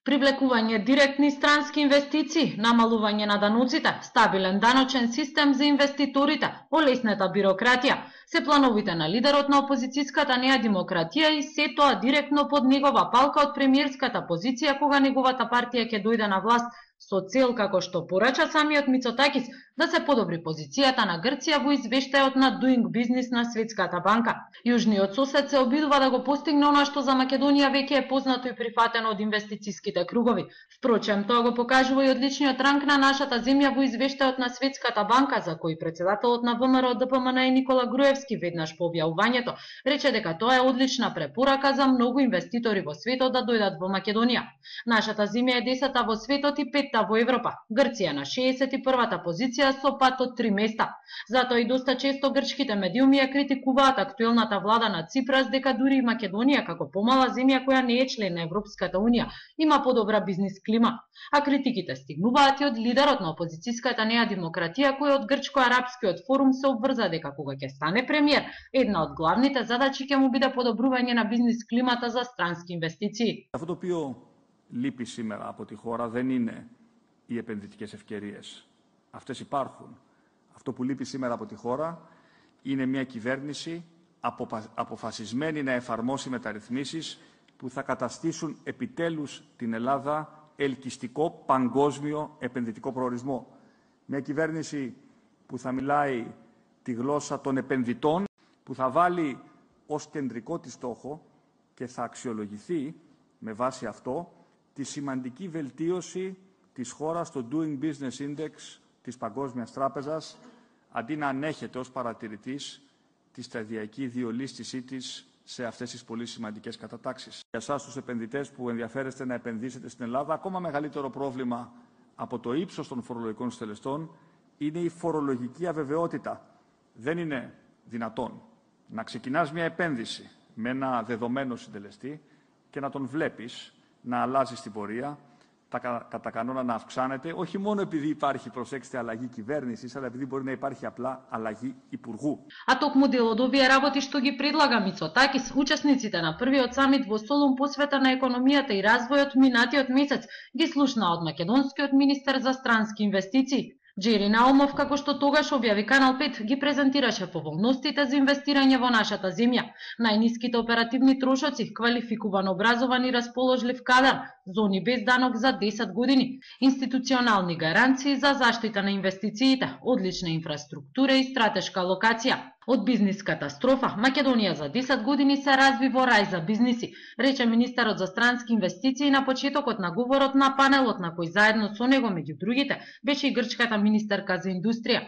Привлекување директни странски инвестиции, намалување на даноците, стабилен даночен систем за инвеститорите, олеснета бирократија, се плановите на лидерот на опозицијската Неа демократија и се тоа директно под негова палка од премиерската позиција кога неговата партија ќе дојде на власт со цел, како што порача самиот Мицотакис, да се подобри позицијата на Грција во извештајот на Doing Business на Светската банка. Јужниот сосед се обидува да го постигне она што за Македонија веќе е познато и прифатено од инвестициските кругови. Впрочем, тоа го покажува и одличниот ранг на нашата земја во извештајот на Светската банка, за кој председателот на ВМРО ДПМН Никола Груевски веднаш по објавувањето рече дека тоа е одлична препорака за многу инвеститори во светот да дојдат во Македонија. Нашата земја е 10-та во светот и 5-та во Европа. Грција на 61-та позиција со пат од 3 места. Затоа и доста често грчките медиуми ја критикуваат актуелната влада на Ципрас дека дури и Македонија како помала земја која не е член на Европската унија има подобра бизнис клима. А критиките стигнуваат и од лидерот на опозицијската Неа демократија кој од грчко-арапскиот форум се обврза дека кога ќе стане премиер, една од главните задачи ќе му биде подобрување на бизнис климата за странски инвестиции. Αυτό το οποίο λείπει σήμερα από τη χώρα δεν είναι οι επενδυτικές ευκαιρίες. Αυτές υπάρχουν. Αυτό που λείπει σήμερα από τη χώρα είναι μια κυβέρνηση αποφασισμένη να εφαρμόσει μεταρρυθμίσεις που θα καταστήσουν επιτέλους την Ελλάδα ελκυστικό παγκόσμιο επενδυτικό προορισμό. Μια κυβέρνηση που θα μιλάει τη γλώσσα των επενδυτών, που θα βάλει ως κεντρικό της στόχο και θα αξιολογηθεί με βάση αυτό τη σημαντική βελτίωση της χώρας στο Doing Business Index της Παγκόσμιας Τράπεζας, αντί να ανέχεται ως παρατηρητής τη σταδιακή διολίσθησή της σε αυτές τις πολύ σημαντικές κατατάξεις. Για εσάς τους επενδυτές που ενδιαφέρεστε να επενδύσετε στην Ελλάδα, ακόμα μεγαλύτερο πρόβλημα από το ύψος των φορολογικών στελεστών είναι η φορολογική αβεβαιότητα. Δεν είναι δυνατόν να ξεκινάς μια επένδυση με ένα δεδομένο συντελεστή και να τον βλέπεις να αλλάζει στην πορεία, κατά κανόνα να αυξάνεται, όχι μόνο επειδή υπάρχει, προσέξτε, αλλαγή κυβέρνησης, αλλά επειδή μπορεί να υπάρχει απλά αλλαγή υπουργού. А токму дел од овие работи што ги предлага Мицотакис, учесниците на првиот самит во Солун посвета на економијата и развојот минатиот месец ги слушнаа од македонскиот министер за странски инвестиции. Джери Наумов, како што тогаш објави Канал 5, ги презентираше поволностите за инвестирање во нашата земја. Најниските оперативни трошоци, квалификуван образован и расположлив кадар, зони без данок за 10 години, институционални гаранции за заштита на инвестициите, одлична инфраструктура и стратешка локација. Од бизнис катастрофа, Македонија за 10 години се разви во рај за бизниси, рече министерот за странски инвестиции на почетокот на говорот на панелот на кој заедно со него, меѓу другите, беше и грчката министерка за индустрија.